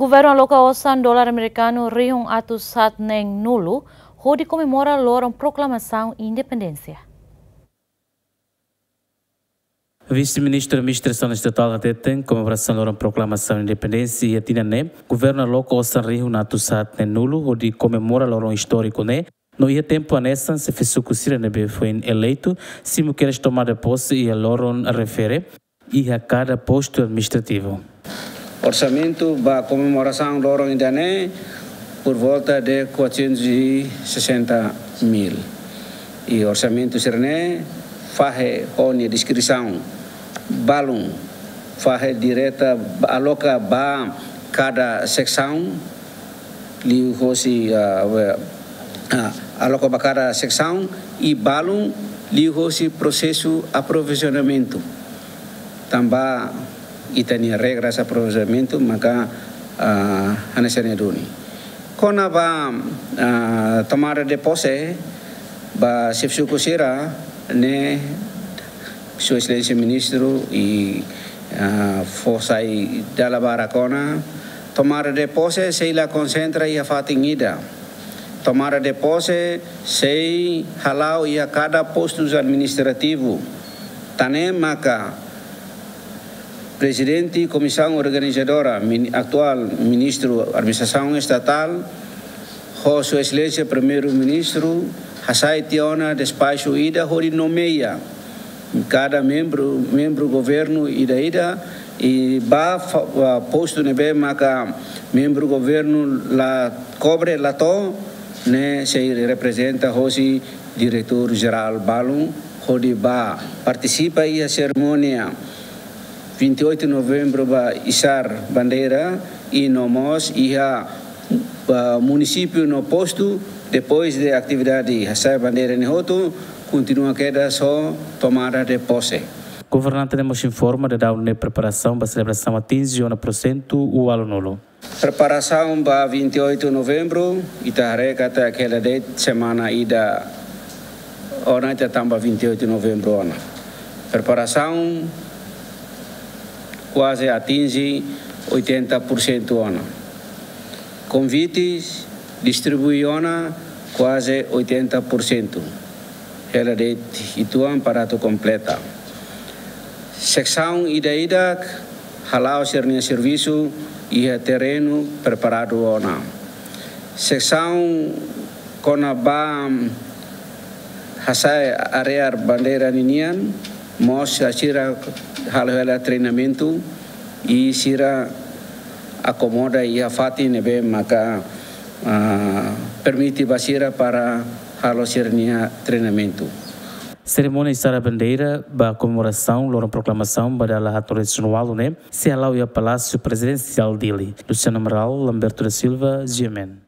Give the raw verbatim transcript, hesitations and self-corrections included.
Governu aloka osan dolar amerikanu rihun atus haat neen nulu hodi komemora loron proklamasaun independénsia. Vise-Ministru Administrasaun Estatál hateten, komemorasaun loron proklamasaun independénsia iha tinan ne'e, governu aloka osan rihun atus haat neen nulu hodi komemora loron istóriku ne'e, no iha tempu hanesan xefe suku sira ne'ebé foin eleitu, simu kedas tomada pose iha loron refere iha kada postu administrativu. Orsamentu ba komemorasaun loron ida-ne'e por volta de quatrocentos e sessenta mil. I orsamentu sira-ne'e fahe ho nia deskrisaun balun, fahe direta, aloka ba kada seksaun, liuhosi, ah, we-, ah, aloka ba kada seksaun i balun liuhosi prosesu aprovisionamentu. Tanba ita-nia regras aprovisionamentu maka, ah, hanesan ne'e duni. Kona-ba, ah, tomada de pose ba xefe suku sira-ne'e, Sua Exelénsia Ministru i, ah, fó sai dala barak ona, tomada de pose sei la konsentra iha fatin ida. Tomada de pose sei hala'o iha kada postus administrativu. Tan ne'e maka Prezidente Komisaun Organizadora, min-, atuál Ministru Administrasaun Estatál, ho Sua Exelénsia Primeiru-Ministru, hasai tiha ona despaxu ida hodi nomeia kada membru, membru governu ida-ida, i ba fa-, ba postu ne'ebé maka membru governu la kobre, la to'o, ne'e sei reprezenta hosi diretór jerál balun, hodi ba partisipa iha serimónia vinte e oito de novembro ba isar bandeira i no mós iha, ah, munisípiu no postu, depois de atividade hasai bandeira ne'e hotu, kontinua kedas ho tomada de pose. Governante ne'e mós informa daudaun ne'e preparasaun ba selebrasaun atinje ona porsentu ualunulu. Preparasaun ba vinte e oito de novembro, ita haree katak hela de'it semana ida ona ita tama ba vinte e oito de novembro ona. Preparasaun kuaze atinje oitenta por cento ona. Konvites distribui ona kuaze oitenta por cento. Hela de'it uitoan para atu kompleta. Seksaun ida-idak hala'o sira-nia servisu iha terrenu preparadu ona. Seksaun kona-ba hasai arear bandeira ninian, mós sira halo hela treinamentu i sira akomoda iha fatin ne'ebé maka, ah, permite ba sira para halo sira-nia treinamentu. Serimónia isar bandeira ba komemorasaun loron proklamasaun ba dala haat neen resin ualu ne'e sei hala'o iha Palásiu Prezidensiál Dili. Luciano Amaral, Lamberto da Silva, G M N.